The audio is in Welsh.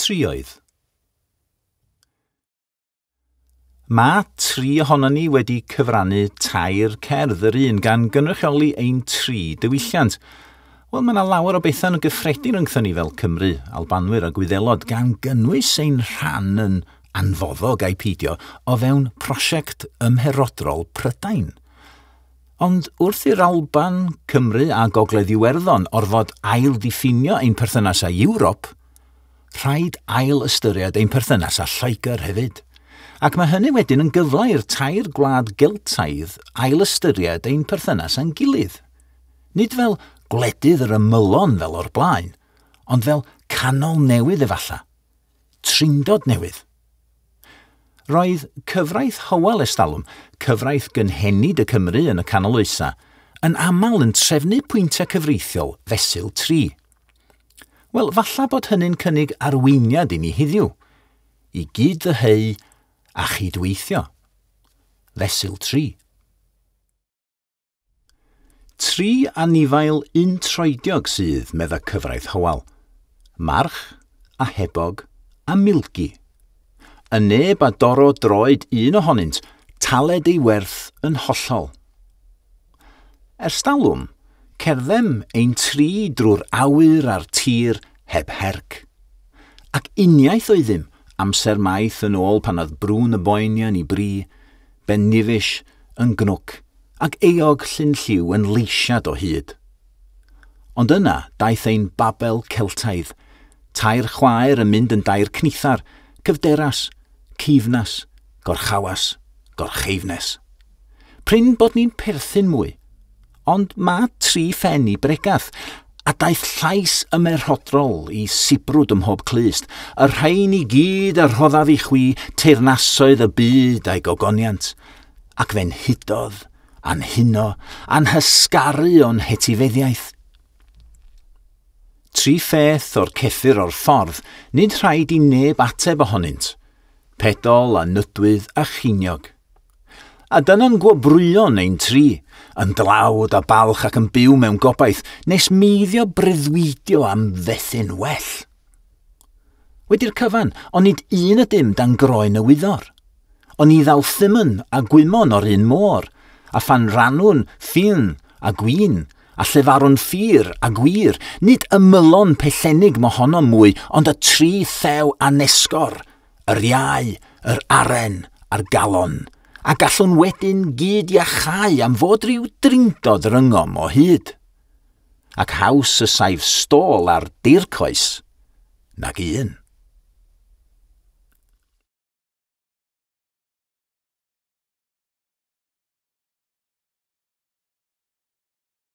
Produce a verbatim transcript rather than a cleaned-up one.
Trioedd. Mae tri ohonon ni wedi cyfrannu tair cerdd yr un gan gynrychioli ein tri diwylliant. Wel, mae yna lawer o bethau yn gyffredin rhyngthon ni fel Cymru, Albanwyr a Gwyddelod, gan gynnwys ein rhan yn anfoddog a'i peidio o fewn prosiect ymherodrol Prydain. Ond wrth i'r Alban, Cymru a Gogledd Iwerddon orfod ail-ddiffinio ein perthynas â Ewrop, rhaid ail-ystyried ein perthynas â Lloegr hefyd. Ac mae hynny wedyn yn gyfle i'r tair gwlad Geltaidd ail-ystyried ein perthynas â'n gilydd. Nid fel gwledydd yr ymylon fel o'r blaen, ond fel canol newydd efalla, trindod newydd. Roedd cyfraith Hywel estalwm, cyfraith gynhenid y Cymru yn y canol oesau, yn aml yn trefnu pwyntiau cyfreithiol fesul tri. Wel, falla bod hynny'n cynnig arweiniad i ni heddiw, i gyd-ddyheu a chydweithio. Fesul tri. Tri anifail untroediog sydd, medda cyfraith Hywel. March, a hebog, a milgi. Y neb a doro droed un ohonynt, taled ei werth yn hollol. Ers talwm, cerddem ein tri drwy'r awyr a'r tir heb herc. Ac uniaith oeddym, amser maith yn ôl pan oedd Brŵn y Boenian i bri, Ben Nevis yn gnwc, ac Eog Llyn Lliw yn leisiad o hyd. Ond yna daeth ein Babel Celtaidd, tair chwaer yn mynd yn dair cnithar, cyfderas, cifnas, gorchawas, gorcheifnes. Prin bod ni'n perthyn mwy, ond mae tri phen i bregath, a daeth llais ymerodrol i sibrwd ym mhob clust, y rhain i gyd a rhoddaf i chwi teyrnasoedd y byd a'i gogoniant, ac fe'n hudodd, a'n huno, a'n hysgaru o'n hetifeddiaeth. Tri pheth o'r ceffyr o'r ffordd, nid rhaid i neb ateb ohonynt, pedol a nydwydd a chiniog. A dyna'n gwobrwyon ein tri, yn dlawd a balch ac yn byw mewn gobaith, nes meiddio breuddwydio am fethu'n well. Wedi'r cyfan, ond nid un ydym dan groen y wyddor. Ond ni ddaw thymyn a gwymon o'r un môr, a phan rannwn ffyn a gwin, a llefarwn ffyr a gwir, nid ymylon pellennig mohono mwy, ond y tri thew anesgor, yr iau, yr aren a'r galon, a gallwn wedyn gyd iachau am fod rhyw drindod rhyngom o hyd. Ac haws y saif stôl ar dircoes nag un.